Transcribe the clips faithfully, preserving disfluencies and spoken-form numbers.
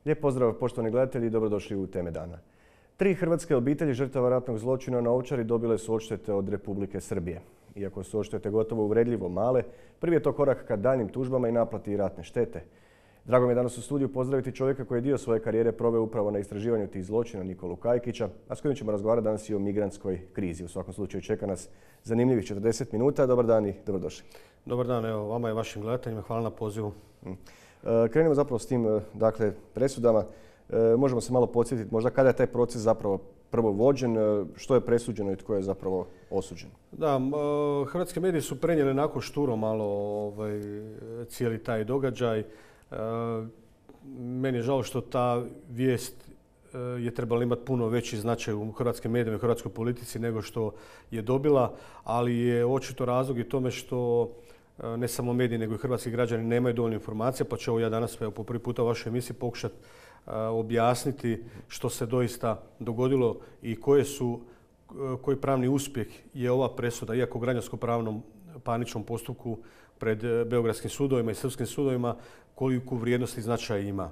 Lijep pozdrav poštovani gledatelji i dobrodošli u Teme dana. Tri hrvatske obitelji žrtava ratnog zločina na Ovčari dobile su odštete od Republike Srbije. Iako su odštete gotovo uvredljivo male, prvi je to korak ka daljnjim tužbama i naplati ratne štete. Drago mi je danas u studiju pozdraviti čovjeka koji je dio svoje karijere proveo upravo na istraživanju tih zločina, Nikolu Kajkića, a s kojim ćemo razgovarati danas i o migrantskoj krizi. U svakom slučaju čeka nas zanimljivih četrdeset minuta. Dobar dan i dobrodošli. Dobar dan, evo vama i vašim gledateljima. Hvala na pozivu. Krenimo zapravo s tim, dakle, presudama. Možemo se malo podsjetiti možda kada je taj proces zapravo prvo vođen, što je presuđeno i tko je zapravo osuđen? Da, hrvatski mediji su prenijeli onako šturo malo ovaj, cijeli taj događaj. Meni je žao što ta vijest je trebala imati puno veći značaj u hrvatskim medijima i hrvatskoj politici nego što je dobila, ali je očito razlog i tome što ne samo mediji nego i hrvatski građani nemaju dovoljno informacija, pa ću ovo ja danas po prvi puta u vašoj emisiji pokušati objasniti što se doista dogodilo i koje su, koji pravni uspjeh je ova presuda, iako u građansko-pravnom parničnom postupku pred beogradskim sudovima i srpskim sudovima, koliku vrijednost i značaj ima.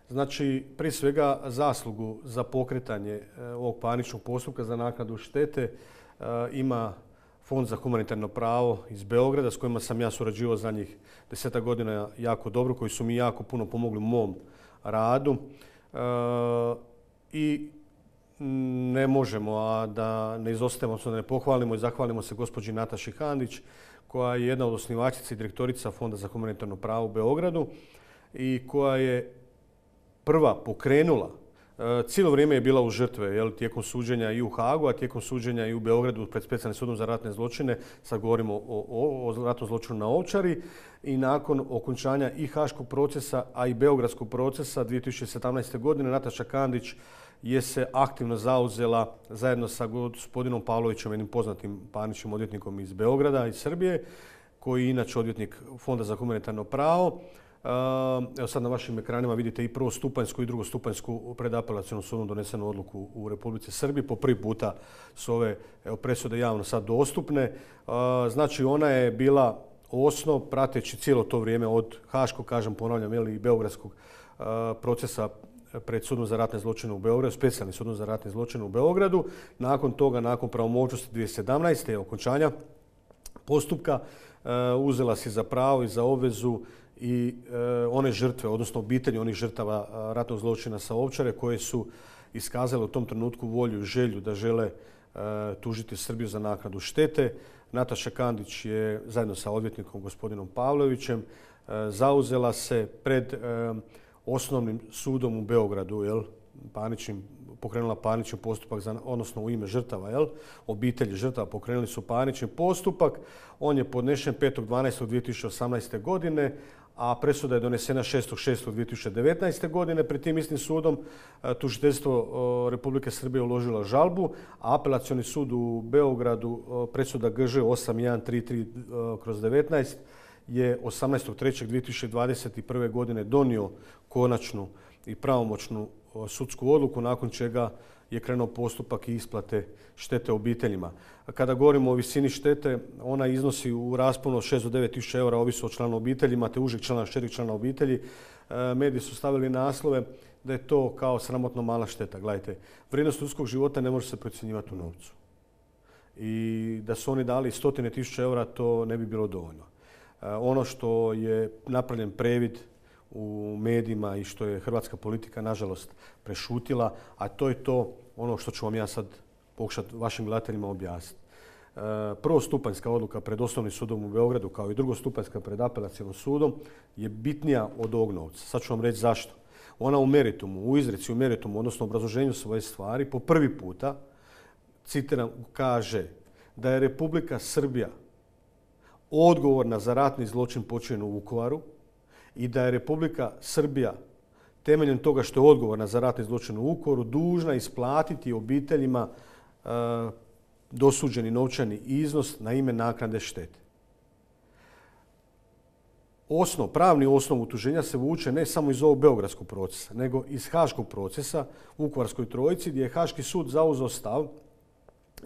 Znači, prije svega zaslugu za pokretanje ovog parničnog postupka za naknadu štete ima Fond za humanitarno pravo iz Beograda s kojima sam ja surađivao zadnjih desetak godina jako dobro, koji su mi jako puno pomogli u mom radu. I ne možemo a da ne izostavimo, da ne pohvalimo i zahvalimo se gospođi Nataši Kandić, koja je jedna od osnivačica i direktorica Fonda za humanitarno pravo u Beogradu i koja je prva pokrenula. Cijelo vrijeme je bila u žrtve, jel, tijekom suđenja i u Hagu, a tijekom suđenja i u Beogradu pred Specijalnim sudom za ratne zločine. Sad govorimo o, o, o ratnom zločinu na Ovčari. I nakon okončanja i haškog procesa, a i beogradskog procesa dvije tisuće sedamnaeste. godine Nataša Kandić je se aktivno zauzela zajedno sa gospodinom Pavlovićem, jednim poznatim parničnim odvjetnikom iz Beograda, iz Srbije, koji je inače odvjetnik Fonda za humanitarno pravo. Evo sad na vašim ekranima vidite i prvostupanjsku i drugostupanjsku pred apelacionom sudom donesenu odluku u Republici Srbiji. Po prvi puta su ove evo, presude javno sad dostupne. Znači ona je bila osnov prateći cijelo to vrijeme od haškog, kažem, ponavljam, i beogradskog procesa pred sudom za ratne zločine u Beogradu, Specijalnim sudom za ratne zločine u Beogradu. Nakon toga, nakon pravomoćnosti dvije tisuće sedamnaeste. okončanja postupka, uzela si za pravo i za obvezu i one žrtve, odnosno obitelji onih žrtava ratnog zločina sa Ovčare, koje su iskazale u tom trenutku volju i želju da žele tužiti Srbiju za naknadu štete. Nataša Kandić je zajedno sa odvjetnikom gospodinom Pavlovićem zauzela se pred osnovnim sudom u Beogradu, jel, parničnim, pokrenula parnični postupak, za, odnosno u ime žrtava, jel, obitelji žrtava pokrenuli su parnični postupak. On je podnešen petog dvanaestog dvije tisuće osamnaeste. godine, a presuda je donesena šestog šestog dvije tisuće devetnaeste. godine. Pred tim istim sudom tužiteljstvo Republike Srbije uložilo žalbu, a apelacioni sud u Beogradu, presuda G Ž osam jedan tri tri kroz devetnaest, je osamnaestog trećeg dvije tisuće dvadeset prve. godine donio konačnu i pravomoćnu sudsku odluku, nakon čega je krenuo postupak i isplate štete obiteljima. Kada govorimo o visini štete, ona iznosi u rasponu od šest do devet tisuća eura, ovisi o članu obitelji, imate užeg člana, šireg člana obitelji. Mediji su stavili naslove da je to kao sramotno mala šteta. Gledajte, vrijednost ljudskog života ne može se procjenjivati u novcu. I da su oni dali stotine tisuća eura, to ne bi bilo dovoljno. Ono što je napravljen previd u medijima i što je hrvatska politika nažalost prešutila, a to je to ono što ću vam ja sad pokušati vašim gledateljima objasniti. Prvostupanjska odluka pred osnovnim sudom u Beogradu kao i drugostupanjska pred apelacionim sudom je bitnija od ovog novca. Sad ću vam reći zašto. Ona u meritumu, u izreci u meritumu, odnosno u obrazloženju svoje stvari, po prvi puta, citiram, kaže da je Republika Srbija odgovorna za ratni zločin počinjen u Vukovaru i da je Republika Srbija temeljem toga što je odgovorna za ratni zločin u Vukovaru dužna isplatiti obiteljima e, dosuđeni novčani iznos na ime naknade štete. Osnov, pravni osnov utuženja se vuče ne samo iz ovog beogradskog procesa, nego iz haškog procesa u Vukovarskoj trojici, gdje je Haški sud zauzeo stav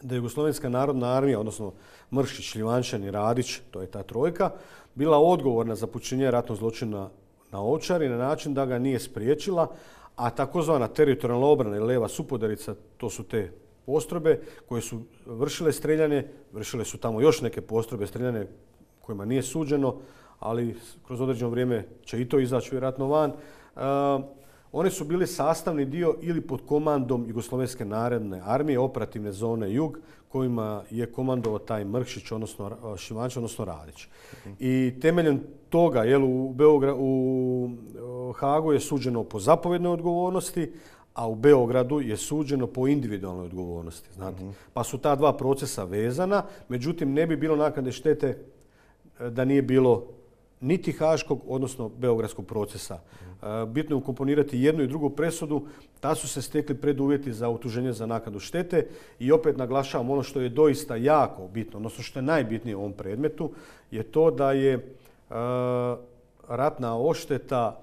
da je Jugoslovenska narodna armija, odnosno Mršić, Šljivančani, Radić, to je ta trojka, bila odgovorna za počinjenje ratnog zločina na Ovčari na način da ga nije spriječila, a takozvana teritorijalna obrana ili leva supodarica, to su te postrojbe koje su vršile streljanje, vršile su tamo još neke postrojbe streljane kojima nije suđeno, ali kroz određeno vrijeme će i to izaći vjerojatno van. Uh, one su bili sastavni dio ili pod komandom Jugoslovenske narodne armije, operativne zone Jug, kojima je komandovao taj Mrkšić, odnosno Šivanč, odnosno Radić. Uh-huh. I temeljem toga, jel, u, Beogra, u Hagu je suđeno po zapovjednoj odgovornosti, a u Beogradu je suđeno po individualnoj odgovornosti. Znate? Uh-huh. Pa su ta dva procesa vezana, međutim ne bi bilo naknade štete da nije bilo niti haškog, odnosno beogradskog procesa. Bitno je ukomponirati jednu i drugu presudu, ta su se stekli preduvjeti za utuženje za naknadu štete i opet naglašavam ono što je doista jako bitno, odnosno što je najbitnije u ovom predmetu, je to da je uh, ratna odšteta,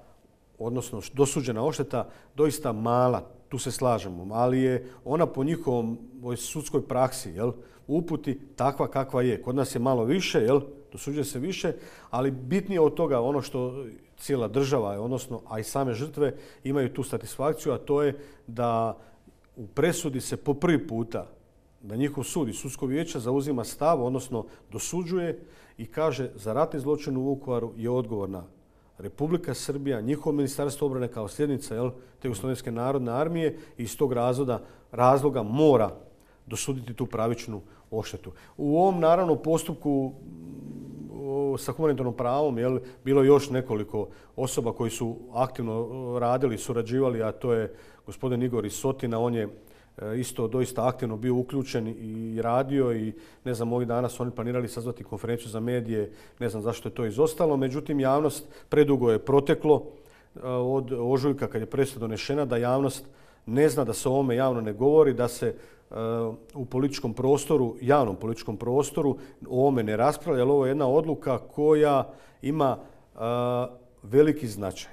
odnosno dosuđena odšteta doista mala, tu se slažemo, ali je ona po njihovom sudskoj praksi, jel, uputi takva kakva je. Kod nas je malo više, jel, dosuđuje se više, ali bitnije od toga ono što cijela država, odnosno, a i same žrtve imaju tu satisfakciju, a to je da u presudi se po prvi puta da njihov sud i sudsko vijeće zauzima stav, odnosno dosuđuje i kaže za ratni zločin u Vukovaru je odgovorna Republika Srbija, njihovo ministarstvo obrane kao sljednica, jel, te Jugoslovenske narodne armije i iz tog razloga, razloga mora dosuditi tu pravičnu odštetu. U ovom naravno postupku sa humanitarnom pravom, jel, bilo je još nekoliko osoba koji su aktivno radili, surađivali, a to je gospodin Igor iz Sotina, on je isto doista aktivno bio uključen i radio i ne znam, ovih dana su oni planirali sazvati konferenciju za medije, ne znam zašto je to izostalo, međutim javnost predugo je proteklo od ožujka kad je presuda donešena da javnost ne zna, da se o ovome javno ne govori, da se u političkom prostoru, javnom političkom prostoru o ovome ne raspravlja, jer ovo je jedna odluka koja ima uh, veliki značaj.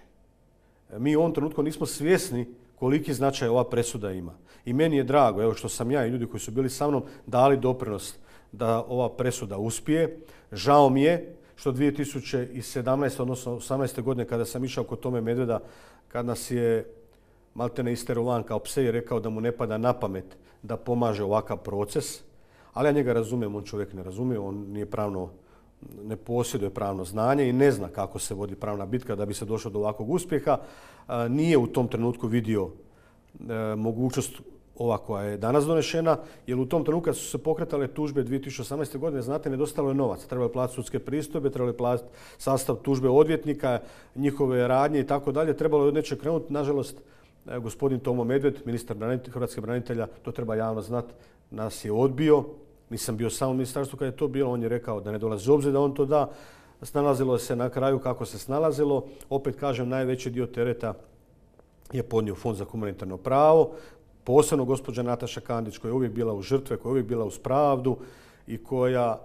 Mi u ovom trenutku nismo svjesni koliki značaj ova presuda ima. I meni je drago, evo, što sam ja i ljudi koji su bili sa mnom dali doprinos da ova presuda uspije. Žao mi je što dvije tisuće sedamnaeste. odnosno osamnaeste. godine kada sam išao kod Tome Medveda, kad nas je maltene isterovan kao pse i rekao da mu ne pada na pamet da pomaže ovakav proces, ali ja njega razumijem, on čovjek ne razumije, on nije pravno, ne posjeduje pravno znanje i ne zna kako se vodi pravna bitka da bi se došlo do ovakvog uspjeha. Nije u tom trenutku vidio mogućnost ova koja je danas donešena, jer u tom trenutku kad su se pokretale tužbe dvije tisuće osamnaeste. godine, znate, nedostalo je novac. Trebalo je platiti sudske pristojbe, trebalo je platiti sastav tužbe odvjetnika, njihove radnje i tako dalje. Trebalo je od nečeg krenuti. Nažalost, gospodin Tomo Medved, ministar hrvatskih branitelja, to treba javno znati, nas je odbio. Nisam bio sam u ministarstvu kad je to bilo. On je rekao da ne dolazi u obzir da on to da. Snalazilo se na kraju kako se snalazilo. Opet kažem, najveći dio tereta je podnio Fond za humanitarno pravo. Posebno gospođa Nataša Kandić, koja je uvijek bila u žrtve, koja je uvijek bila uz pravdu i koja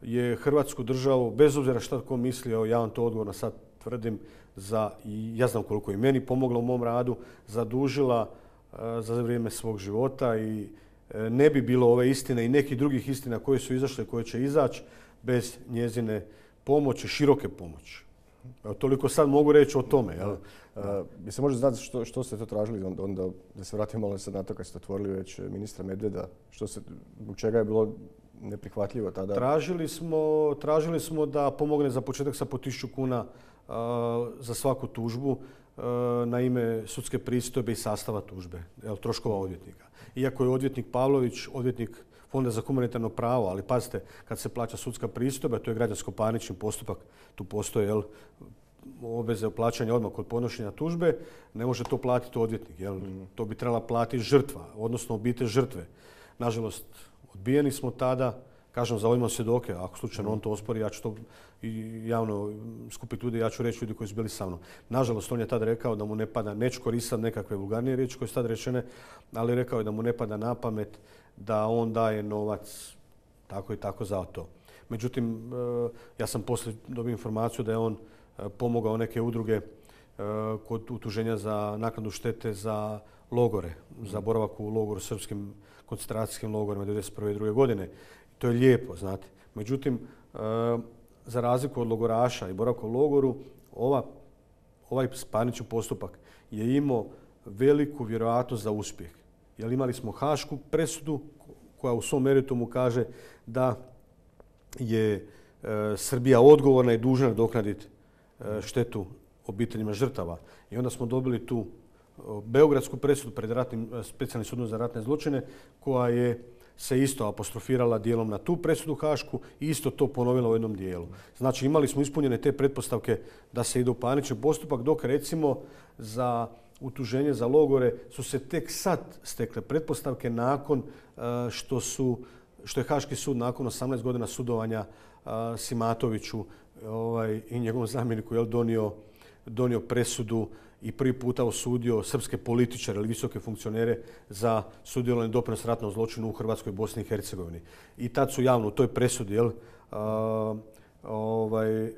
je Hrvatsku državu, bez obzira šta tko mislio, ja vam to odgovorno sad tvrdim, za, i ja znam koliko je meni pomogla u mom radu, zadužila uh, za vrijeme svog života i uh, ne bi bilo ove istine i nekih drugih istina koje su izašle, koje će izaći bez njezine pomoći, široke pomoći. Evo, toliko sad mogu reći o tome. Jel? Uh, bi se može znati što, što ste to tražili, onda da se vratimo malo sad na to kad ste otvorili već ministra Medveda, što se, zbog čega je bilo neprihvatljivo tada? Tražili smo, tražili smo da pomogne za početak sa po tisuću kuna uh, za svaku tužbu uh, na ime sudske pristojbe i sastava tužbe, jel, troškova odvjetnika. Iako je odvjetnik Pavlović, odvjetnik Fonda za humanitarno pravo, ali pazite, kad se plaća sudska pristojba, to je građansko-parnični postupak, tu postoje, jel, obveze o plaćanju odmah kod podnošenja tužbe, ne može to platiti odvjetnik. Jel? Mm. To bi trebala platiti žrtva, odnosno obitelj žrtve. Nažalost, odbijeni smo tada, kažem, zavolimo svjedoke, ako slučajno mm. on to ospori, ja ću to javno skupiti ljudi, ja ću reći ljudi koji su bili sa mnom. Nažalost, on je tada rekao da mu ne pada, neću koristiti nekakve vulgarnije riječi koje su tada rečene, ali rekao je da mu ne pada na pamet da on daje novac tako i tako za to. Međutim, ja sam poslije dobio informaciju da je on pomogao neke udruge kod utuženja za naknadu štete za logore, za boravak u logoru, srpskim koncentracijskim logorima devedeset prve i druge godine. To je lijepo, znate. Međutim, za razliku od logoraša i boravka u logoru, ova ovaj parnični postupak je imao veliku vjerojatnost za uspjeh. Jer imali smo hašku presudu koja u svom meritumu kaže da je e, Srbija odgovorna i dužna nadoknaditi e, štetu obiteljima žrtava. I onda smo dobili tu beogradsku presudu pred ratnim, specijalnim sudom za ratne zločine koja je se isto apostrofirala dijelom na tu presudu hašku i isto to ponovila u jednom dijelu. Znači imali smo ispunjene te pretpostavke da se ide u parnični postupak, dok recimo za utuženje za logore su se tek sad stekle pretpostavke nakon što, su, što je Haški sud nakon osamnaest godina sudovanja Simatoviću ovaj, i njegovom zamjeniku je donio, donio presudu i prvi puta osudio srpske političare ili visoke funkcionere za sudjelovanje doprinos ratnom zločinu u Hrvatskoj, Bosni i Hercegovini. I tad su javno u toj presudi, jel, a, ovaj,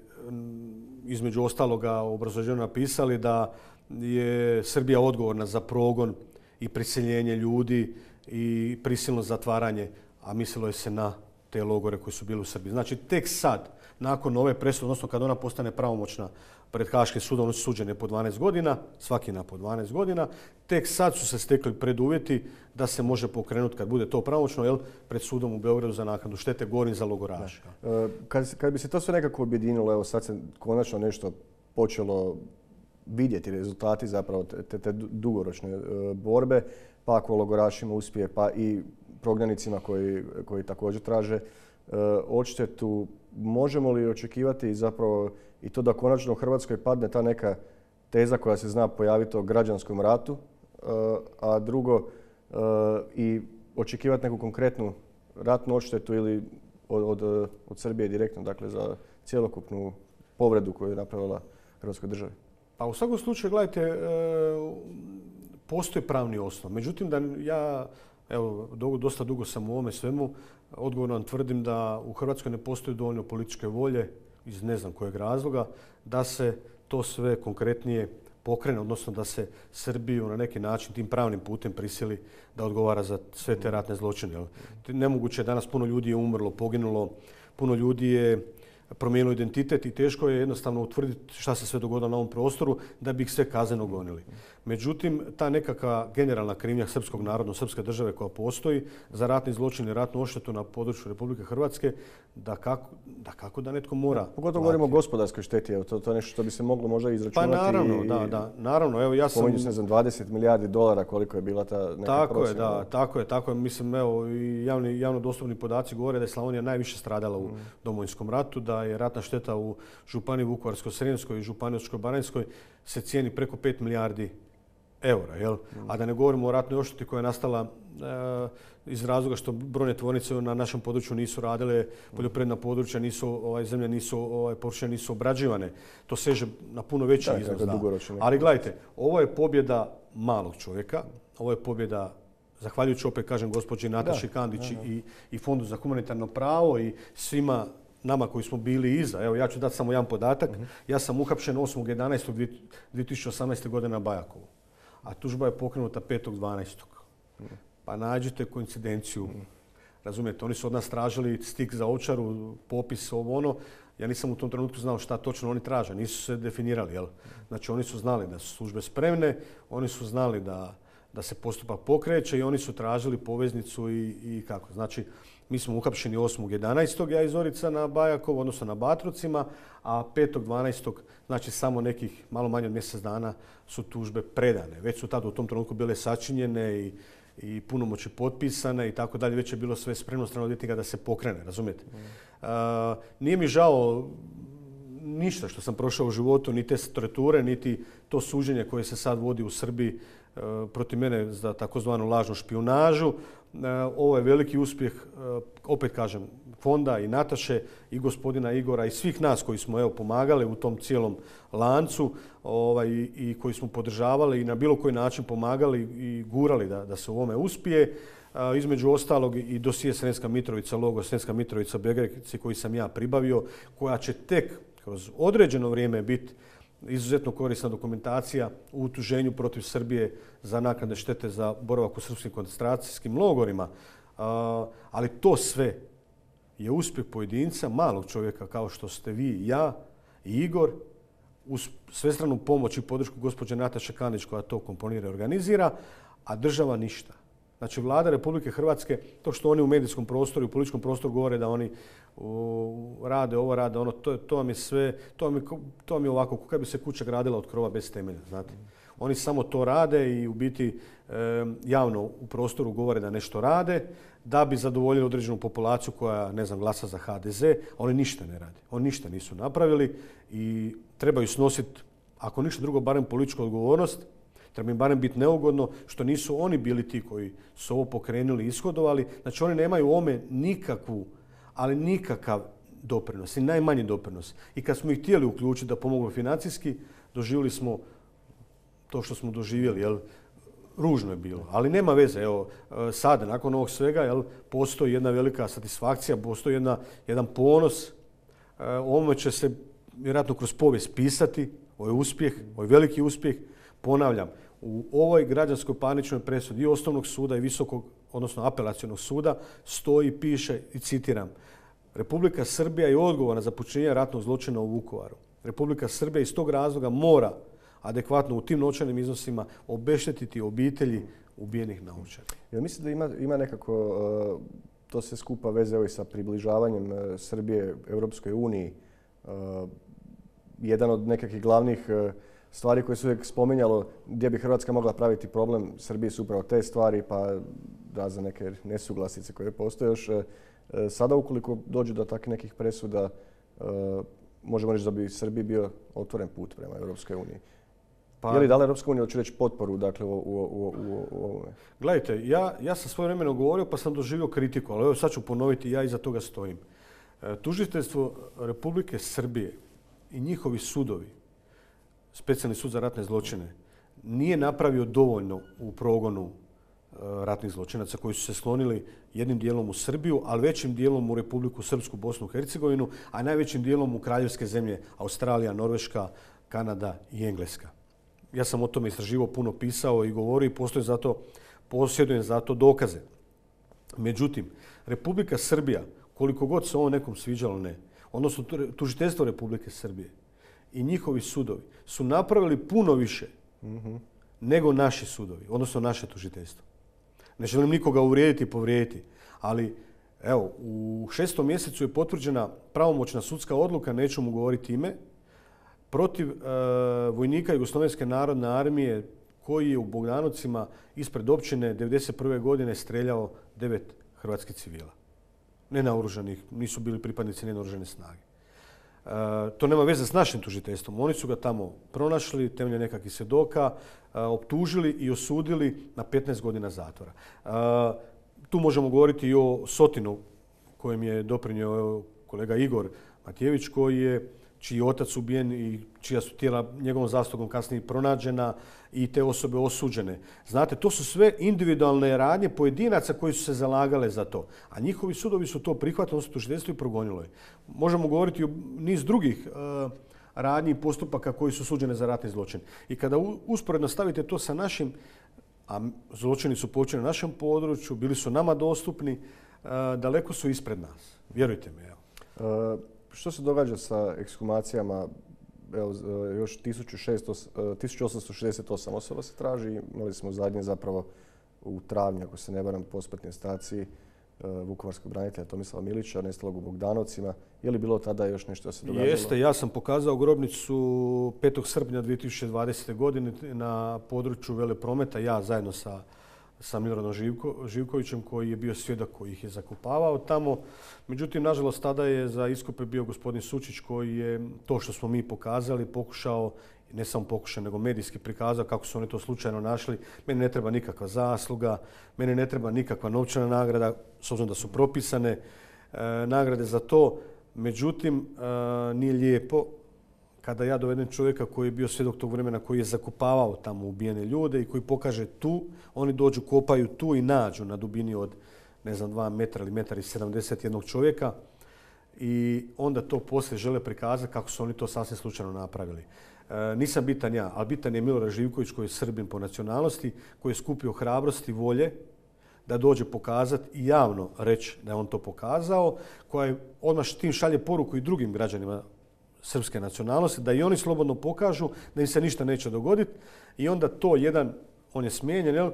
između ostaloga u obrazloženju napisali da je Srbija odgovorna za progon i prisiljenje ljudi i prisilno zatvaranje, a mislilo je se na te logore koji su bili u Srbiji. Znači tek sad, nakon ove presude, odnosno kad ona postane pravomoćna pred Haškim sudom, oni su suđeni po dvanaest godina, svaki na po dvanaest godina, tek sad su se stekli preduvjeti da se može pokrenuti, kad bude to pravomoćno, jel, pred sudom u Beogradu za naknadu štete, govorim za logoraše. Kad, kad bi se to sve nekako objedinilo, evo sad se konačno nešto počelo vidjeti, rezultati zapravo te, te dugoročne borbe, pa ako logorašima uspije, pa i prognanicima koji, koji također traže odštetu, možemo li očekivati zapravo i to da konačno u Hrvatskoj padne ta neka teza koja se zna pojaviti o građanskom ratu, a drugo i očekivati neku konkretnu ratnu odštetu ili od, od, od Srbije direktno, dakle za cjelokupnu povredu koju je napravila Hrvatskoj državi? Pa u svakom slučaju, gledajte, postoji pravni osnov. Međutim, da ja, evo, dosta dugo sam u ovome svemu, odgovorno vam tvrdim da u Hrvatskoj ne postoji dovoljno političke volje, iz ne znam kojeg razloga, da se to sve konkretnije pokrene, odnosno da se Srbiju na neki način tim pravnim putem prisili da odgovara za sve te ratne zločine. Nemoguće je, danas puno ljudi je umrlo, poginulo, puno ljudi je promijenilo identitet i teško je jednostavno utvrditi šta se sve dogodilo na ovom prostoru da bi ih sve kazneno gonili. Međutim, ta nekakva generalna krivnja srpskog naroda, srpske države koja postoji za ratni zločin i ratnu odštetu na području Republike Hrvatske, da kako da, kako da netko mora. Da, pogotovo govorimo o gospodarskoj šteti, evo, to, to je nešto što bi se moglo možda izračunati. Pa naravno, i, da, da, naravno. Evo, ja sam... Pominju se, ne znam, dvadeset milijardi dolara koliko je bila ta neka tako prosjeka. Je, da, tako je, tako je. Mislim, evo, i javni, javno dostupni podaci govore da je Slavonija najviše stradala u mm. Domovinskom ratu, da je ratna šteta u županiji Vukovarsko-srijemskoj i županiji Osječko-baranjskoj se cijeni preko pet milijardi eura. Jel? Mm. A da ne govorimo o ratnoj odšteti koja je nastala e, iz razloga što brojne tvornice na našem području nisu radile, poljoprivredna područja, nisu, ovaj, zemlje nisu, ovaj, površine nisu obrađivane. To seže na puno veći da, iznos. Da. Ali gledajte, ovo je pobjeda malog čovjeka, ovo je pobjeda, zahvaljujući opet kažem gospođi Nataši Kandić i, i Fondu za humanitarno pravo i svima nama koji smo bili iza. Evo, ja ću dati samo jedan podatak. Uh-huh. Ja sam uhapšen osmog jedanaestog dvije tisuće osamnaeste. godine na Bajakovu, a tužba je pokrenuta petog dvanaestog Uh-huh. Pa nađite koincidenciju. Uh-huh. Razumijete, oni su od nas tražili stik za Ovčaru, popis, ovo ono. Ja nisam u tom trenutku znao šta točno oni traže. Nisu se definirali. Jel? Znači, oni su znali da su službe spremne, oni su znali da, da se postupak pokreće i oni su tražili poveznicu i, i kako. Znači, mi smo uhapšeni osmog jedanaestog ja iz Orica na Bajakovu, odnosno na Batrovcima, a petog dvanaestog znači samo nekih malo manje od mjesec dana su tužbe predane. Već su tada u tom trenutku bile sačinjene i, i punomoći potpisane i tako dalje. Već je bilo sve spremno strane odvjetnika da se pokrene, razumijete? Mm. Uh, nije mi žao ništa što sam prošao u životu, ni te torture, niti to suđenje koje se sad vodi u Srbiji uh, protiv mene za takozvanu lažnu špijunažu. Ovo je veliki uspjeh, opet kažem, fonda i Nataše i gospodina Igora i svih nas koji smo evo, pomagali u tom cijelom lancu ovaj, i koji smo podržavali i na bilo koji način pomagali i gurali da, da se u ovome uspije. Između ostalog i dosije Sremska Mitrovica, logo Sremska Mitrovica Begreci koji sam ja pribavio, koja će tek kroz određeno vrijeme biti izuzetno korisna dokumentacija u utuženju protiv Srbije za naknade štete za boravak u srpskim koncentracijskim logorima. Ali to sve je uspjeh pojedinca, malog čovjeka kao što ste vi i ja i Igor uz svestranu pomoć i podršku gospođe Nataše Kandić koja to komponira i organizira, a država ništa. Znači, Vlada Republike Hrvatske, to što oni u medijskom prostoru i u političkom prostoru govore da oni u, rade ovo, rade ono, to, to vam je sve, to vam je, to vam je ovako, kako bi se kuća gradila od krova bez temelja, znate. Oni samo to rade i u biti e, javno u prostoru govore da nešto rade, da bi zadovoljili određenu populaciju koja, ne znam, glasa za ha de ze, a oni ništa ne rade. Oni ništa nisu napravili i trebaju snositi, ako ništa drugo, barem političku odgovornost. Treba im barem biti neugodno što nisu oni bili ti koji su ovo pokrenuli i ishodovali. Znači, oni nemaju u ovome nikakvu, ali nikakav doprinos i najmanji doprinos. I kad smo ih htjeli uključiti da pomognu financijski, doživjeli smo to što smo doživjeli, jel, ružno je bilo. Ali nema veze, evo, sada, nakon ovog svega, jel, postoji jedna velika satisfakcija, postoji jedna, jedan ponos. O ovome će se vjerojatno kroz povijest pisati, ovo je uspjeh, ovo je veliki uspjeh. Ponavljam, u ovoj građanskoj parničnoj presudi i Osnovnog suda i Visokog, odnosno Apelacionog suda, stoji, piše i citiram: Republika Srbija je odgovorna za počinjenje ratnog zločina u Vukovaru. Republika Srbija iz tog razloga mora adekvatno u tim novčanim iznosima obeštetiti obitelji ubijenih naučara. Ja mislim da ima, ima nekako uh, to se skupa veze i sa približavanjem uh, Srbije Europskoj uniji. Uh, jedan od nekakvih glavnih uh, stvari koje su uvijek spominjalo gdje bi Hrvatska mogla praviti problem Srbiji su upravo te stvari, pa da za neke nesuglasice koje postoje još. Uh, sada ukoliko dođe do takvih nekih presuda, uh, možemo reći da bi Srbiji bio otvoren put prema Europskoj uniji. Pa, je li dala Europska unija, hoću reći, potporu dakle, u, u, u, u ovome? Gledajte, ja, ja sam svoje vremeno govorio pa sam doživio kritiku, ali evo sad ću ponoviti, ja iza toga stojim. E, tužiteljstvo Republike Srbije i njihovi sudovi, Specijalni sud za ratne zločine, nije napravio dovoljno u progonu e, ratnih zločinaca koji su se slonili jednim dijelom u Srbiju, ali većim dijelom u Republiku Srpsku, Bosnu i Hercegovinu, a najvećim dijelom u kraljevske zemlje Australija, Norveška, Kanada i Engleska. Ja sam o tome istraživao, puno pisao i govorio i postoje zato, posjedujem za to dokaze. Međutim, Republika Srbija, koliko god se ovo nekom sviđalo, ne, odnosno tužiteljstvo Republike Srbije i njihovi sudovi su napravili puno više mm-hmm. nego naši sudovi, odnosno naše tužiteljstvo. Ne želim nikoga uvrijediti i povrijediti, ali evo, u šestom mjesecu je potvrđena pravomoćna sudska odluka, neću mu govoriti ime, protiv e, vojnika Jugoslovenske narodne armije koji je u Bogdanovcima ispred općine devedeset prve godine streljao devet hrvatskih civila. Nenaoružanih, nisu bili pripadnici nenaoružane snage. E, to nema veze s našim tužiteljstvom. Oni su ga tamo pronašli, temeljem nekakvih svjedoka, e, optužili i osudili na petnaest godina zatvora. E, tu možemo govoriti i o Sotinu, kojem je doprinio kolega Igor Matijević, koji je čiji je otac ubijen i čija su tijela njegovom zaslugom kasnije pronađena i te osobe osuđene. Znate, to su sve individualne radnje pojedinaca koji su se zalagale za to. A njihovi sudovi su to prihvatili, odnosno tužiteljstvo i progonilo je. Možemo govoriti o niz drugih uh, radnji i postupaka koji su suđene za ratni zločin. I kada usporedno stavite to sa našim, a zločini su počinjeni na našem području, bili su nama dostupni, uh, daleko su ispred nas. Vjerujte mi, evo. Uh... Što se događa sa ekshumacijama? Evo, još tisuću osamsto šezdeset osam osoba se traži. Imali smo zadnje zapravo u travnju, ako se ne varam, posmrtnoj staciji vukovarskog branitelja Tomislava Milića, nestalog u Bogdanovcima. Je li bilo tada još nešto se događalo? Jeste, ja sam pokazao grobnicu petog srpnja dvije tisuće dvadesete. godine na području Veleprometa, ja zajedno sa sa Miloradom Živko, Živkovićem koji je bio svjedok koji ih je zakopavao tamo. Međutim, nažalost, tada je za iskope bio gospodin Sučić koji je to što smo mi pokazali pokušao, ne samo pokušao, nego medijski prikazao kako su oni to slučajno našli. Meni ne treba nikakva zasluga, meni ne treba nikakva novčana nagrada, s obzirom da su propisane e, nagrade za to. Međutim, e, nije lijepo kada ja dovedem čovjeka koji je bio svjedok tog vremena, koji je zakopavao tamo ubijene ljude i koji pokaže tu, oni dođu, kopaju tu i nađu na dubini od, ne znam, dva metra ili metar i sedamdeset jednog čovjeka i onda to poslije žele prikazati kako su oni to sasvim slučajno napravili. E, nisam bitan ja, ali bitan je Milorad Živković koji je Srbin po nacionalnosti, koji je skupio hrabrosti i volje da dođe pokazati i javno reći da je on to pokazao, koja je odmah tim šalje poruku i drugim građanima srpske nacionalnosti, da i oni slobodno pokažu da im se ništa neće dogoditi i onda to jedan, on je smijenjen, jel?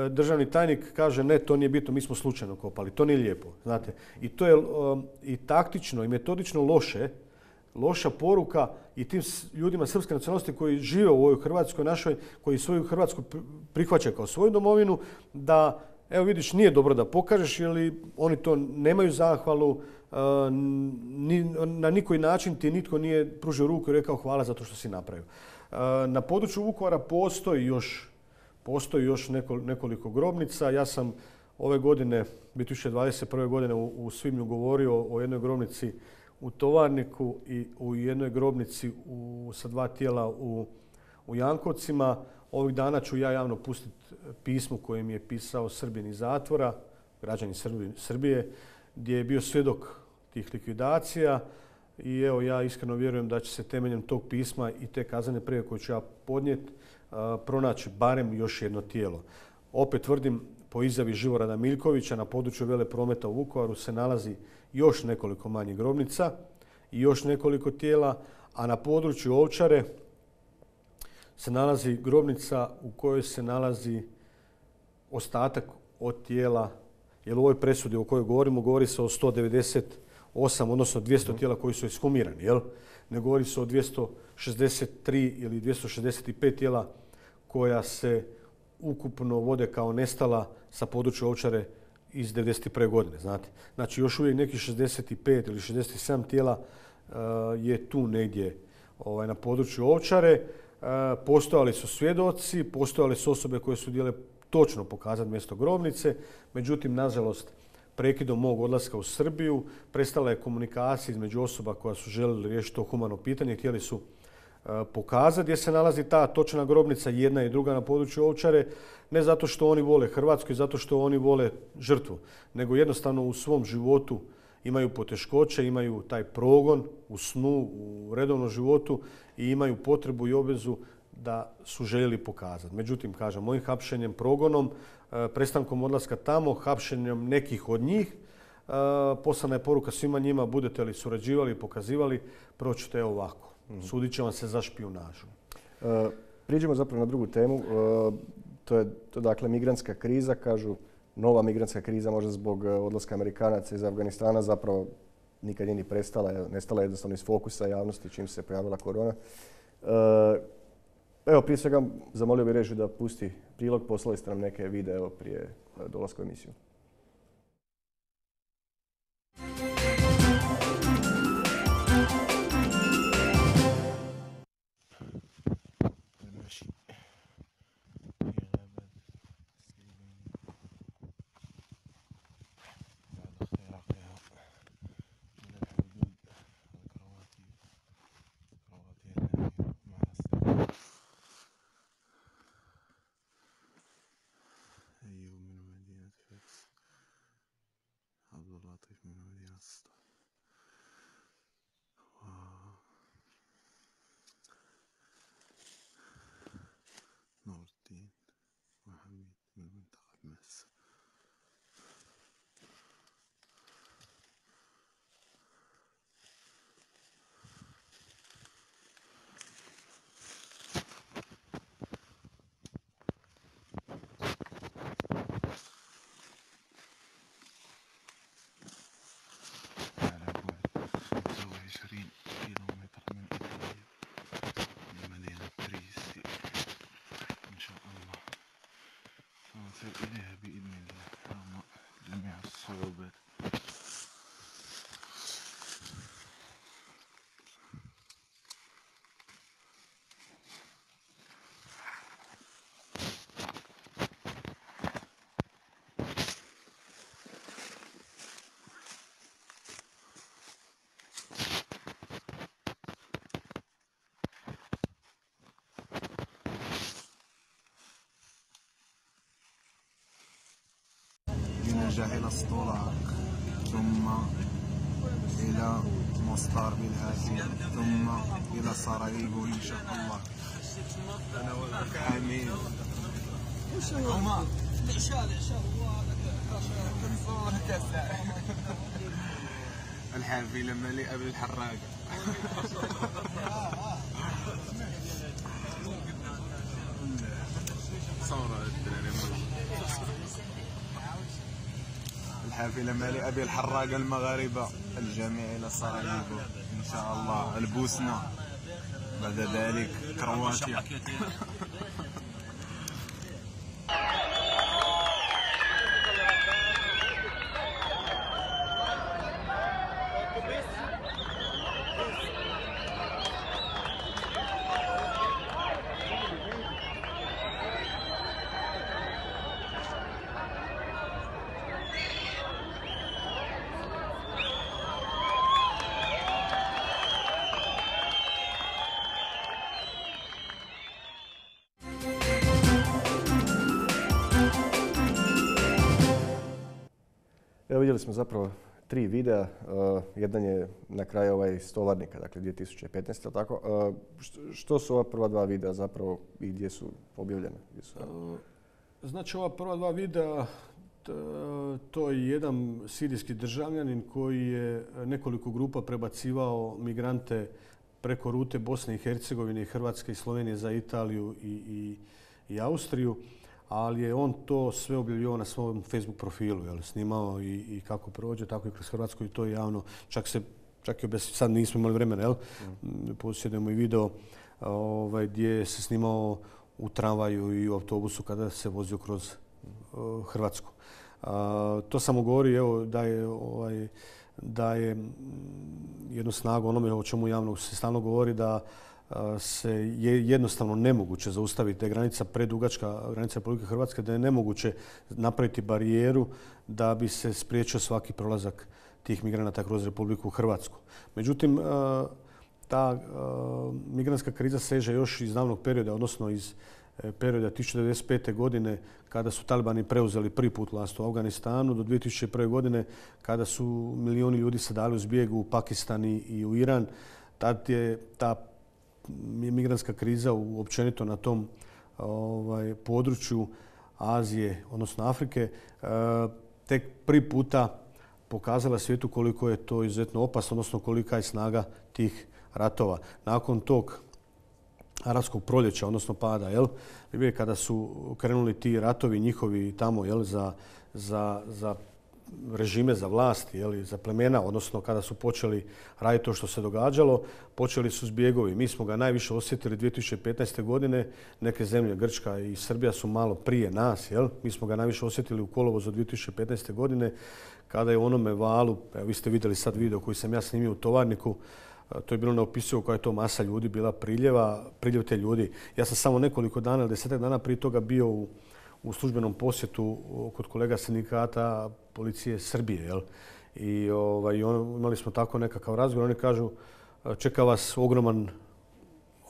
Državni tajnik kaže ne, to nije bitno, mi smo slučajno kopali, to nije lijepo, znate. I to je um, i taktično i metodično loše, loša poruka i tim ljudima srpske nacionalnosti koji žive u ovoj Hrvatskoj našoj, koji svoju Hrvatsku prihvaćaju kao svoju domovinu, da, evo vidiš, nije dobro da pokažeš, jer oni to nemaju zahvalu, uh, ni, na nikoji način ti nitko nije pružio ruku i rekao hvala za to što si napravio. Uh, na području Vukovara postoji još Postoji još nekoliko grobnica. Ja sam ove godine, dvije tisuće dvadeset prve. godine u, u svibnju govorio o jednoj grobnici u Tovarniku i u jednoj grobnici u, sa dva tijela u, u Jankovcima. Ovih dana ću ja javno pustiti pismo koje mi je pisao Srbin iz zatvora, građanin Srbije, gdje je bio svjedok tih likvidacija. I evo, ja iskreno vjerujem da će se temeljem tog pisma i te kaznene prijave koje ću ja podnijeti pronaći barem još jedno tijelo. Opet tvrdim, po izjavi Živorada Miljkovića, na području Veleprometa u Vukovaru se nalazi još nekoliko manjih grobnica i još nekoliko tijela, a na području Ovčare se nalazi grobnica u kojoj se nalazi ostatak od tijela, jer u ovoj presudi o kojoj govorimo, govori se o sto devedeset osam, odnosno dvjesto tijela koji su ekshumirani, jel? Ne govori se o dvjesto šezdeset tri ili dvjesto šezdeset pet tijela koja se ukupno vode kao nestala sa područja Ovčare iz devedeset prve. godine. Znate. Znači još uvijek nekih šezdeset pet ili šezdeset sedam tijela uh, je tu negdje ovaj, na području Ovčare. Uh, postojali su svjedoci, postojali su osobe koje su htjele točno pokazati mjesto grobnice, međutim, nažalost, prekidom mog odlaska u Srbiju prestala je komunikacija između osoba koja su željeli riješiti to humano pitanje, htjeli su uh, pokazati gdje se nalazi ta točna grobnica, jedna i druga na području Ovčare, ne zato što oni vole Hrvatsku i zato što oni vole žrtvu, nego jednostavno u svom životu imaju poteškoće, imaju taj progon u snu, u redovnom životu i imaju potrebu i obvezu da su željeli pokazati. Međutim, kažem, mojim hapšenjem, progonom, prestankom odlaska tamo, hapšenjem nekih od njih, poslana je poruka svima njima, budete li surađivali i pokazivali, proćete ovako. Sudit će vam se za špijunažu. E, priđemo zapravo na drugu temu. E, to je to, dakle migrantska kriza, kažu nova migrantska kriza možda zbog odlaska Amerikanaca iz Afganistana zapravo nikad nije ni prestala, nestala je jednostavno iz fokusa javnosti čim se pojavila korona. E, Evo, prije svega zamolio bih režiju da pusti prilog. Poslali ste nam neke videe prije dolaska u emisiju. إليها بإذن الله رغم جميع الصعوبات. نرجع إلى اسطولاق ثم إلى مصدر بالهاتف ثم إلى سراييفو إن شاء الله. آمين. عمر العشاء العشاء الحافي لما لي قبل الحراقة. فيلم علي أبي الحراقة المغاربة الجميع إلى سراييفو إن شاء الله البوسنة بعد ذلك كرواتيا. Evo vidjeli smo zapravo tri videa. Uh, jedan je na kraju ovaj iz Tovarnika, dakle dvije tisuće petnaeste. Tako? Uh, što su ova prva dva videa zapravo i gdje su objavljene? Gdje su... Uh, znači ova prva dva videa, to je jedan sirijski državljanin koji je nekoliko grupa prebacivao migrante preko rute Bosne i Hercegovine, Hrvatske i Slovenije za Italiju i, i, i Austriju. Ali je on to sve objavljivao na svom Facebook profilu, jel, snimao i, i kako prođe, tako i kroz Hrvatsku i to je javno. Čak se, čak i sad nismo imali vremena, jel, mm. posjedujemo i video ovaj, gdje se snimao u tramvaju i u autobusu kada se vozio kroz uh, Hrvatsku. Uh, to samo govori, evo, da je, ovaj, da je jednu snagu onome o čemu javno se stalno govori, da se je jednostavno nemoguće zaustaviti, da je granica predugačka, granica Republike Hrvatske, da je nemoguće napraviti barijeru da bi se spriječio svaki prolazak tih migranata kroz Republiku Hrvatsku. Međutim, ta migrantska kriza seže još iz davnog perioda, odnosno iz perioda tisuću devetsto devedeset pete. godine kada su talibani preuzeli prvi put vlast u Afganistanu do dvije tisuće prve. godine kada su milioni ljudi se dali u zbjegu u Pakistan i u Iran. Tad je ta migrantska kriza općenito na tom ovaj, području Azije, odnosno Afrike, e, tek prvi puta pokazala svijetu koliko je to izuzetno opasno, odnosno kolika je snaga tih ratova. Nakon tog arapskog proljeća, odnosno pada, jel, kada su krenuli ti ratovi njihovi tamo, jel, za, za, za režime, za vlast, jel, za plemena, odnosno kada su počeli raditi to što se događalo, počeli su zbjegovi. Mi smo ga najviše osjetili dvije tisuće petnaeste. godine. Neke zemlje, Grčka i Srbija, su malo prije nas. Jel? Mi smo ga najviše osjetili u kolovozu dvije tisuće petnaeste. godine kada je u onome valu, evo, vi ste vidjeli sad video koji sam ja snimio u Tovarniku, to je bilo neopisivo koja je to masa ljudi bila priljeva, priljev te ljudi. Ja sam samo nekoliko dana ili desetak dana prije toga bio u, u službenom posjetu kod kolega sindikata policije Srbije. Jel? I ovaj, on, imali smo tako nekakav razgovor. Oni kažu, čeka vas ogroman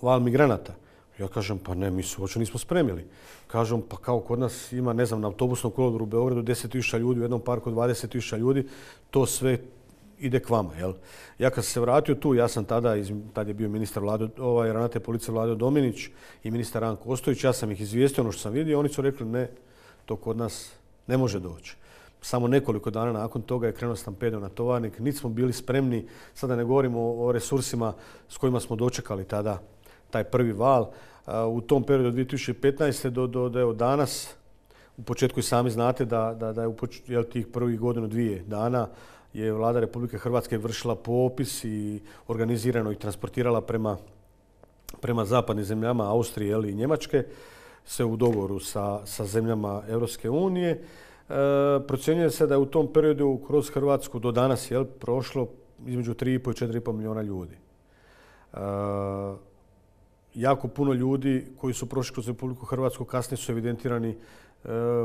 val migranata. Ja kažem, pa ne, mi se uopće nismo spremili. Kažem, pa kao kod nas ima, ne znam, na autobusnom kolodvoru u Beogradu deset tisuća ljudi, u jednom parku dvadeset tisuća ljudi, to sve ide k vama. Jel? Ja kad sam se vratio tu, ja sam tada, tad je bio ministar Vlado, ovaj, ravnatelj policije Vlado Dominić i ministar Ranko Ostojić, ja sam ih izvijestio ono što sam vidio, oni su rekli ne, to kod nas ne može doći. Samo nekoliko dana nakon toga je krenuo stampedo na Tovarnik, niti smo bili spremni, sada ne govorimo o resursima s kojima smo dočekali tada taj prvi val. U tom periodu od dvije tisuće petnaeste. do, do, do evo, danas, u početku i sami znate da, da, da je u poč, jel, tih prvih godinu dvije dana je Vlada Republike Hrvatske vršila popis i organizirano ih transportirala prema, prema zapadnim zemljama Austrije, jel, i Njemačke, sve u dogovoru sa, sa zemljama Europske unije. E, procjenjuje se da je u tom periodu kroz Hrvatsku do danas, jel, prošlo između tri i pol i četiri i pol milijuna ljudi. E, jako puno ljudi koji su prošli kroz Republiku Hrvatsku kasnije su evidentirani e,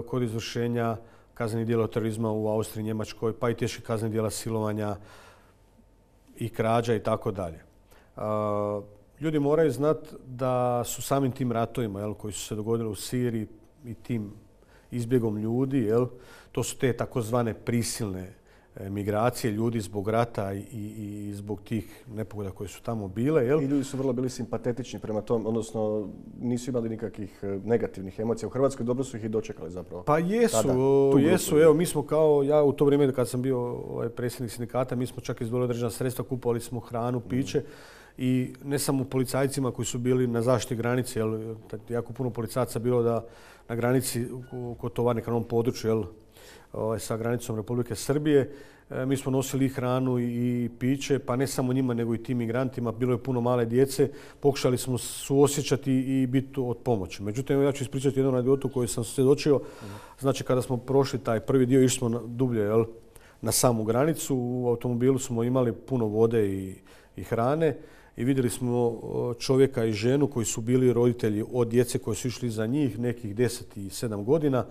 kod izvršenja kaznenih djela terorizma u Austriji, Njemačkoj, pa i teških kaznenih djela silovanja i krađa i tako dalje. Ljudi moraju znati da su samim tim ratovima, jel, koji su se dogodili u Siriji i tim izbjegom ljudi, jel, to su te takozvane prisilne migracije ljudi zbog rata i, i, i zbog tih nepogoda koje su tamo bile. Jel? I ljudi su vrlo bili simpatetični prema tom, odnosno nisu imali nikakvih negativnih emocija. U Hrvatskoj dobro su ih i dočekali zapravo. Pa jesu, jesu. Evo, mi smo kao, ja u to vrijeme kad sam bio ovaj, predsjednik sindikata, mi smo čak izdvojili određena sredstva, kupovali smo hranu, piće. Mm. i ne samo policajcima koji su bili na zaštiti granice, jel, jako puno policajaca bilo da na granici kod Tovarnika na ovom području, jel, ovaj, sa granicom Republike Srbije. E, mi smo nosili i hranu i piće, pa ne samo njima nego i tim migrantima. Bilo je puno male djece. Pokušali smo suosjećati i biti od pomoći. Međutim, ja ću ispričati jednu anegdotu koju sam svjedočio. Znači, kada smo prošli taj prvi dio, išli smo na, dublje, jel, na samu granicu. U automobilu smo imali puno vode i, i hrane i vidjeli smo čovjeka i ženu koji su bili roditelji od djece koji su išli iza njih, nekih deset i sedam godina,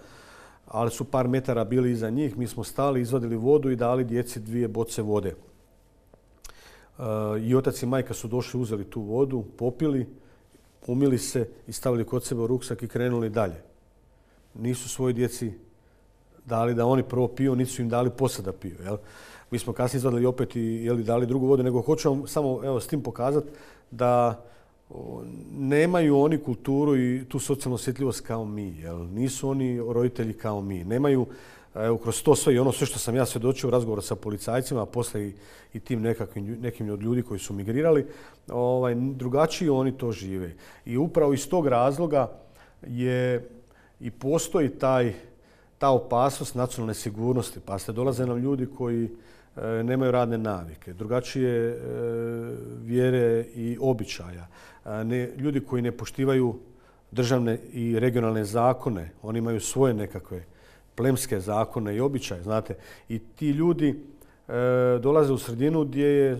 ali su par metara bili iza njih. Mi smo stali, izvadili vodu i dali djeci dvije boce vode. I otac i majka su došli, uzeli tu vodu, popili, umili se i stavili kod sebe u ruksak i krenuli dalje. Nisu svoj djeci dali da oni prvo piju, niti su im dali poslije da piju. Jel? Mi smo kasnije izvadili opet i jeli, dali drugu vodu, nego hoću vam samo evo, s tim pokazati da o, nemaju oni kulturu i tu socijalnu osjetljivost kao mi. Jel? Nisu oni roditelji kao mi. Nemaju, evo, kroz to sve i ono sve što sam ja svjedočio u razgovoru sa policajcima, a poslije i, i tim nekakvim, nekim od ljudi koji su migrirali, ovaj, drugačije oni to žive. I upravo iz tog razloga je i postoji taj, ta opasnost nacionalne sigurnosti. Pa ste dolaze nam ljudi koji e, nemaju radne navike, drugačije e, vjere i običaja. E, ne, ljudi koji ne poštivaju državne i regionalne zakone, oni imaju svoje nekakve plemske zakone i običaje, znate. I ti ljudi e, dolaze u sredinu gdje je, e,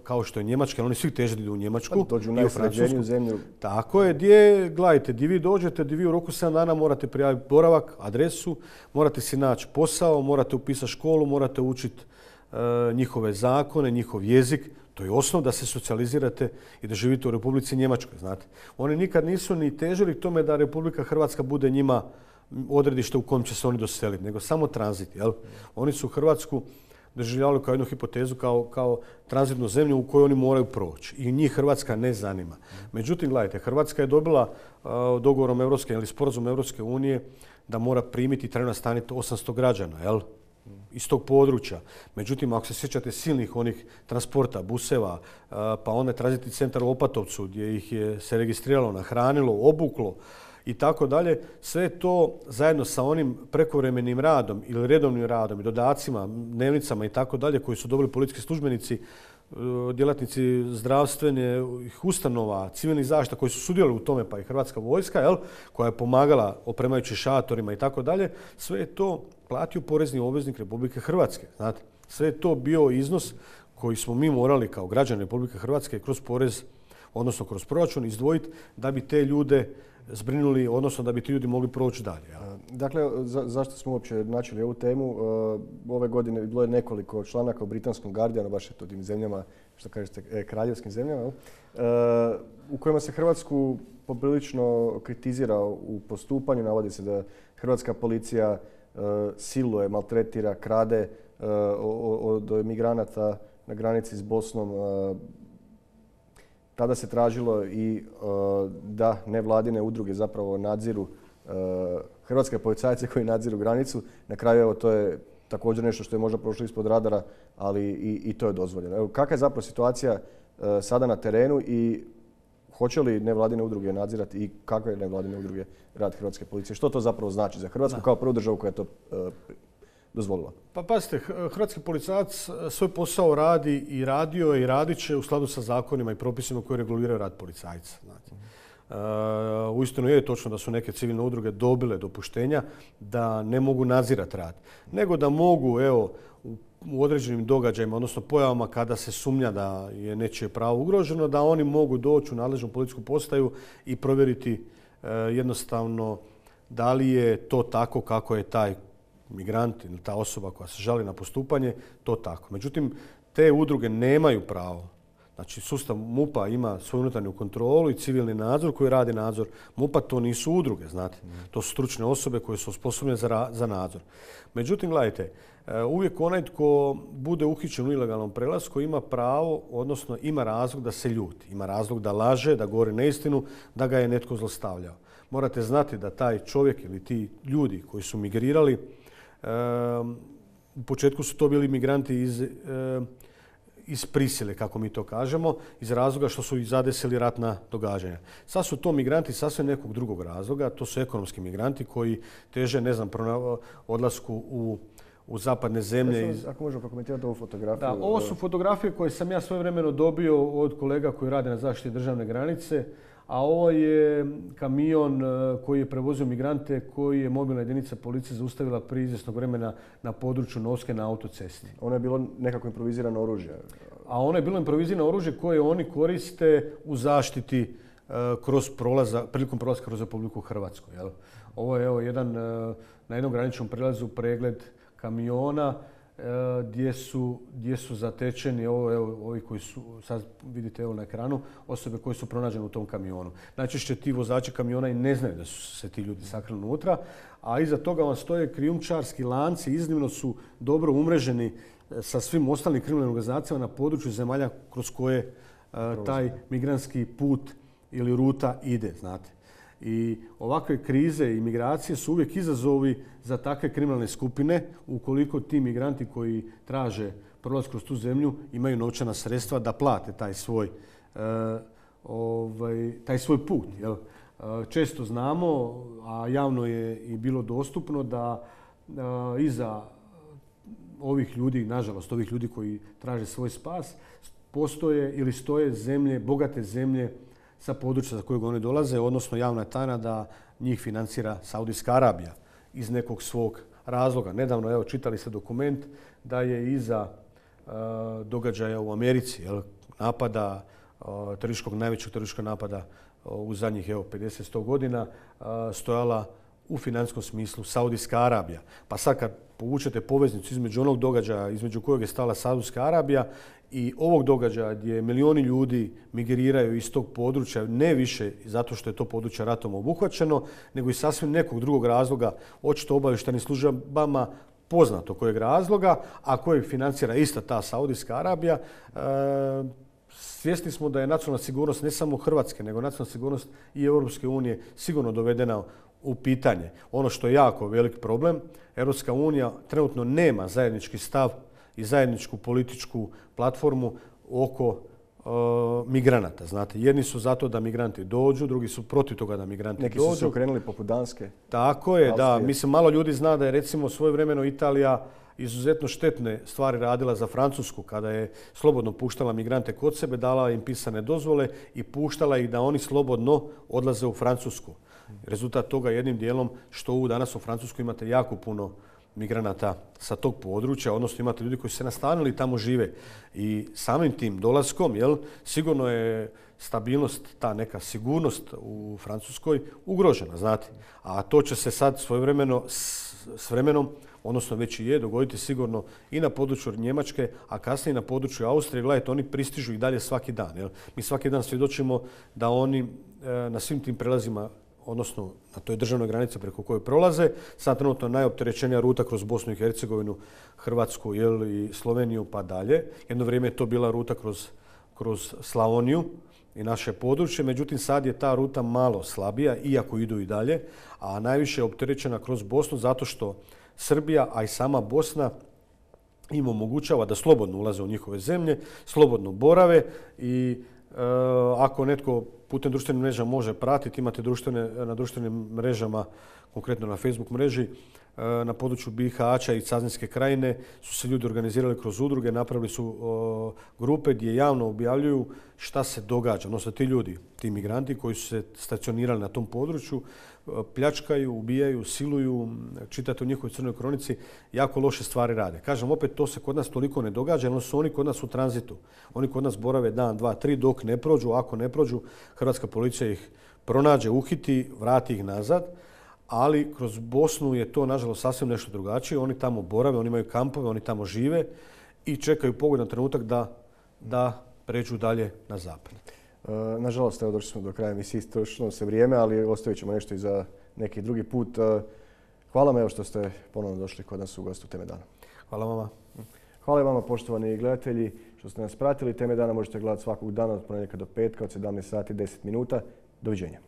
kao što je Njemačka, oni svi teže idu u Njemačku. Dođu u najsređeniju zemlju. Tako je, gdje, gledajte, gdje vi dođete, gdje vi u roku sedam dana morate prijaviti boravak, adresu, morate si naći posao, morate upisati školu, morate učiti e, njihove zakone, njihov jezik. To je osnov da se socijalizirate i da živite u Republici Njemačkoj, znate. Oni nikad nisu ni težili k tome da Republika Hrvatska bude njima odredište u kojem će se oni doseliti, nego samo tranzit. Jel? Oni su Hrvatsku doživljavali kao jednu hipotezu, kao, kao tranzitnu zemlju u kojoj oni moraju proći. I njih Hrvatska ne zanima. Međutim, gledajte, Hrvatska je dobila uh, dogovorom Evropske ili sporazum Evropske unije da mora primiti i trajno nastaniti osamsto građana, jel? Iz tog područja. Međutim, ako se sjećate silnih onih transporta, buseva, uh, pa onda tranzitni centar u Opatovcu gdje ih je se registriralo, nahranilo, obuklo, i tako dalje, sve to zajedno sa onim prekovremenim radom ili redovnim radom i dodacima, dnevnicama i tako dalje koji su dobili policijski službenici, djelatnici zdravstvenih ustanova, civilnih zaštita koji su sudjelovali u tome, pa i Hrvatska vojska, jel, koja je pomagala opremajući šatorima i tako dalje, sve je to platio porezni obveznik Republike Hrvatske. Znate, sve je to bio iznos koji smo mi morali kao građani Republike Hrvatske kroz porez, odnosno kroz proračun, izdvojiti da bi te ljude zbrinuli, odnosno da bi ti ljudi mogli proći dalje. Ja. Dakle, za, zašto smo uopće načeli ovu temu? Ove godine bilo je nekoliko članaka u britanskom Guardianu, baš je to tim zemljama, što kažete, kraljevskim zemljama, u kojima se Hrvatsku poprilično kritizira u postupanju. Navodi se da hrvatska policija siluje, maltretira, krade od migranata na granici s Bosnom. Tada se tražilo i uh, da nevladine udruge zapravo nadziru uh, hrvatske policajce koji nadziru granicu. Na kraju evo, to je također nešto što je možda prošlo ispod radara, ali i, i to je dozvoljeno. Evo, kakva je zapravo situacija uh, sada na terenu i hoće li nevladine udruge nadzirati i kakve je nevladine udruge rad hrvatske policije? Što to zapravo znači za Hrvatsku kao prvu državu koja je to uh, dozvolila? Pa pazite, hrvatski policajac svoj posao radi i radio je i radit će u skladu sa zakonima i propisima koji reguliraju rad policajca. Znači. Uh, uistinu je točno da su neke civilne udruge dobile dopuštenja da ne mogu nadzirati rad, nego da mogu, evo, u, u određenim događajima, odnosno pojavama kada se sumnja da je nečije pravo ugroženo, da oni mogu doći u nadležnu policijsku postaju i provjeriti uh, jednostavno da li je to tako kako je taj migrant ili ta osoba koja se žali na postupanje, to tako. Međutim, te udruge nemaju pravo. Znači, sustav MUP-a ima svoju unutarnju kontrolu i civilni nadzor koji radi nadzor. MUP-a to nisu udruge, znate. To su stručne osobe koje su osposobljene za, za nadzor. Međutim, gledajte, uvijek onaj tko bude uhićen u ilegalnom prelasku ima pravo, odnosno ima razlog da se ljuti. Ima razlog da laže, da govori neistinu, da ga je netko zlostavljao. Morate znati da taj čovjek ili ti ljudi koji su migrirali, u početku su to bili migranti iz, iz prisile, kako mi to kažemo, iz razloga što su ih zadesili ratna događanja. Sad su to migranti sasvim nekog drugog razloga, to su ekonomski migranti koji teže, ne znam, odlasku u, u zapadne zemlje. Iz... Ako možemo prokomentirati ovu fotografiju. Da, ovo su fotografije koje sam ja svojevremeno dobio od kolega koji rade na zaštiti državne granice, a ovo je kamion koji je prevozio migrante koji je mobilna jedinica policije zaustavila prije izvjesnog vremena na području Novske na autocesti. Ono je bilo nekako improvizirano oružje. A ono je bilo improvizirano oružje koje oni koriste u zaštiti kroz prolaza, prilikom prolaska kroz Republiku Hrvatsku. Jel? Ovo je evo, jedan, na jednom graničnom prelazu pregled kamiona gdje su, gdje su zatečeni ovo, evo, ovi koji su, sad vidite evo na ekranu, osobe koje su pronađene u tom kamionu. Najčešće ti vozači kamiona i ne znaju da su se ti ljudi sakrili unutra, a iza toga vam stoje krijumčarski lanci, iznimno su dobro umreženi sa svim ostalim kriminalnim organizacijama na području zemalja kroz koje uh, taj migrantski put ili ruta ide, znate. I ovakve krize i migracije su uvijek izazovi za takve kriminalne skupine ukoliko ti migranti koji traže prolaz kroz tu zemlju imaju novčana sredstva da plate taj svoj, uh, ovaj, taj svoj put. Jel? Uh, često znamo, a javno je i bilo dostupno da uh, iza ovih ljudi, nažalost ovih ljudi koji traže svoj spas, postoje ili stoje zemlje, bogate zemlje sa područja za kojeg oni dolaze, odnosno javna je tajna da njih financira Saudijska Arabija iz nekog svog razloga. Nedavno, evo, čitali ste dokument da je iza uh, događaja u Americi, jel, napada, uh, terorističkog, najvećeg terorističkog napada uh, u zadnjih evo, pedeset do sto godina, uh, stojala u financijskom smislu Saudijska Arabija. Pa sad kad povučete poveznicu između onog događaja između kojeg je stala Saudijska Arabija i ovog događaja gdje milioni ljudi migriraju iz tog područja, ne više zato što je to područje ratom obuhvaćeno, nego i sasvim nekog drugog razloga, očito obavještajnim službama poznato kojeg razloga, a kojeg financira ista ta Saudijska Arabija. E, svjesni smo da je nacionalna sigurnost ne samo Hrvatske, nego nacionalna sigurnost i Europske unije sigurno dovedena u pitanje. Ono što je jako velik problem, Europska unija trenutno nema zajednički stav i zajedničku političku platformu oko uh, migranata. Znate, jedni su zato da migranti dođu, drugi su protiv toga da migranti Neki dođu. Neki su se okrenuli poput Danske. Tako je, Austrije. da. Mislim, malo ljudi zna da je recimo svojevremeno Italija izuzetno štetne stvari radila za Francusku kada je slobodno puštala migrante kod sebe, dala im pisane dozvole i puštala ih da oni slobodno odlaze u Francusku. Rezultat toga jednim dijelom što u danas u Francuskoj imate jako puno migranata sa tog područja, odnosno imate ljudi koji su se nastanili i tamo žive. I samim tim dolaskom, jel, sigurno je stabilnost, ta neka sigurnost u Francuskoj ugrožena, znate. A to će se sad svojevremeno, s vremenom, odnosno već i je, dogoditi sigurno i na području Njemačke, a kasnije na području Austrije. Gledajte, oni pristižu i dalje svaki dan. Jel? Mi svaki dan svjedočimo da oni e, na svim tim prelazima, odnosno na toj državnoj granici preko koje prolaze, sad trenutno najopterećenija ruta kroz Bosnu i Hercegovinu, Hrvatsku, jel, i Sloveniju pa dalje. Jedno vrijeme je to bila ruta kroz, kroz Slavoniju i naše područje, međutim sad je ta ruta malo slabija, iako idu i dalje, a najviše je opterećena kroz Bosnu zato što Srbija, a i sama Bosna im omogućava da slobodno ulaze u njihove zemlje, slobodno borave i e, ako netko putem društvenih mreža može pratiti, imate društvene, na društvenim mrežama, konkretno na Facebook mreži, na području Bihaća i Cazinske krajine su se ljudi organizirali kroz udruge, napravili su o, grupe gdje javno objavljuju šta se događa. Odnosno ti ljudi, ti migranti koji su se stacionirali na tom području, pljačkaju, ubijaju, siluju, čitate u njihovoj crnoj kronici, jako loše stvari rade. Kažem, opet to se kod nas toliko ne događa, jer su oni kod nas u tranzitu. Oni kod nas borave dan, dva, tri, dok ne prođu. Ako ne prođu, hrvatska policija ih pronađe, uhiti, vrati ih nazad. Ali kroz Bosnu je to, nažalost, sasvim nešto drugačije. Oni tamo borave, oni imaju kampove, oni tamo žive i čekaju pogodan trenutak da, da pređu dalje na zapad. E, nažalost, evo došli smo do kraja emisije, istrošilo se vrijeme, ali ostavit ćemo nešto i za neki drugi put. E, hvala vam evo što ste ponovno došli kod nas u gostu Teme dana. Hvala vama. Hvala i vama, poštovani gledatelji, što ste nas pratili. Teme dana možete gledati svakog dana od ponedjeljka do petka od sedamnaest sati i deset minuta. Doviđenja.